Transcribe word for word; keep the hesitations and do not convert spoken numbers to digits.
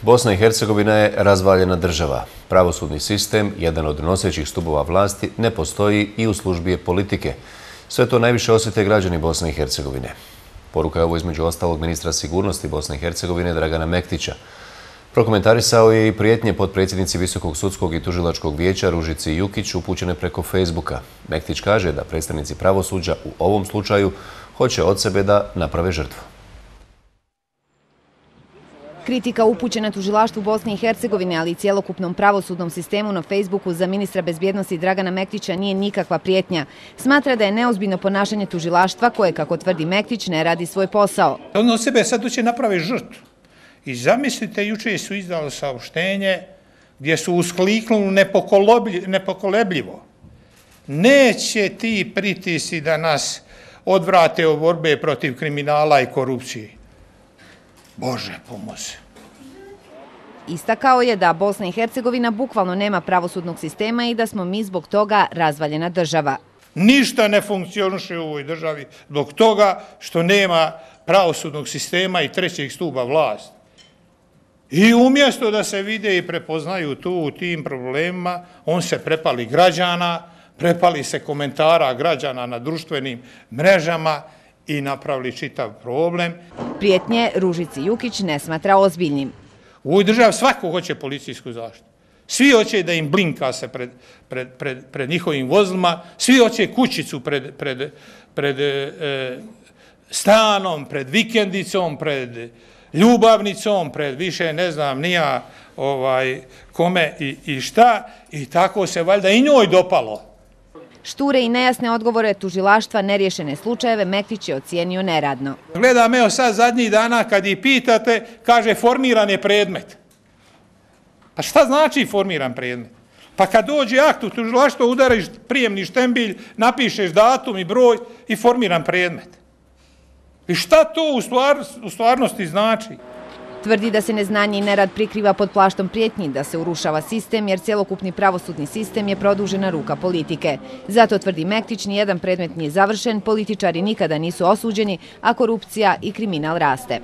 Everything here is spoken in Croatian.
Bosna i Hercegovina je razvaljena država. Pravosudni sistem, jedan od nosećih stubova vlasti, ne postoji i u službi je politike. Sve to najviše osjete građani Bosne i Hercegovine. Poruka je ovo između ostalog ministra sigurnosti Bosne i Hercegovine Dragana Mektića. Prokomentarisao je i prijetnje potpredsjednici Visokog sudskog i tužilačkog vijeća Ružici Jukić upućene preko Facebooka. Mektić kaže da predstavnici pravosuđa u ovom slučaju hoće od sebe da naprave žrtvu. Kritika upućena tužilaštvu Bosne i Hercegovine, ali i cjelokupnom pravosudnom sistemu na Facebooku za ministra bezbjednosti Dragana Mektića nije nikakva prijetnja. Smatra da je neozbiljno ponašanje tužilaštva koje, kako tvrdi Mektić, ne radi svoj posao. On od sebe sad će napraviti žrtvu. I zamislite, juče su izdali saopštenje gdje su uskliknuli nepokolebljivo. Neće ti pritisci da nas odvrate od borbe protiv kriminala i korupcije. Bože pomozi. Istakao je da Bosna i Hercegovina bukvalno nema pravosudnog sistema i da smo mi zbog toga razvaljena država. Ništa ne funkcioniše u ovoj državi zbog toga što nema pravosudnog sistema i trećeg stuba vlasti. I umjesto da se vide i prepoznaju tu u tim problemima, on se prepali građana, prepali se komentara građana na društvenim mrežama i napravili čitav problem. Prijetnje Ružici Jukić ne smatra ozbiljnim. U ovoj državi svako hoće policijsku zaštitu. Svi hoće da im blinka se pred, pred, pred, pred njihovim vozilima, svi hoće kućicu pred, pred, pred e, stanom, pred vikendicom, pred ljubavnicom, pred više ne znam nija ovaj, kome i, i šta. I tako se valjda i njoj dopalo. Šture i nejasne odgovore tužilaštva neriješene slučajeve Mektić je ocijenio neradno. Gledam, evo sad zadnjih dana kad ih pitate, kaže formiran je predmet. Pa šta znači formiran predmet? Pa kad dođe akt u tužilaštvo, udariš prijemni štembilj, napišeš datum i broj i formiran predmet. I šta to u, stvar, u stvarnosti znači? Tvrdi da se neznanje i nerad prikriva pod plaštom prijetnji, da se urušava sistem jer cjelokupni pravosudni sistem je produžena ruka politike. Zato, tvrdi Mektić, nijedan predmet nije završen, političari nikada nisu osuđeni, a korupcija i kriminal raste.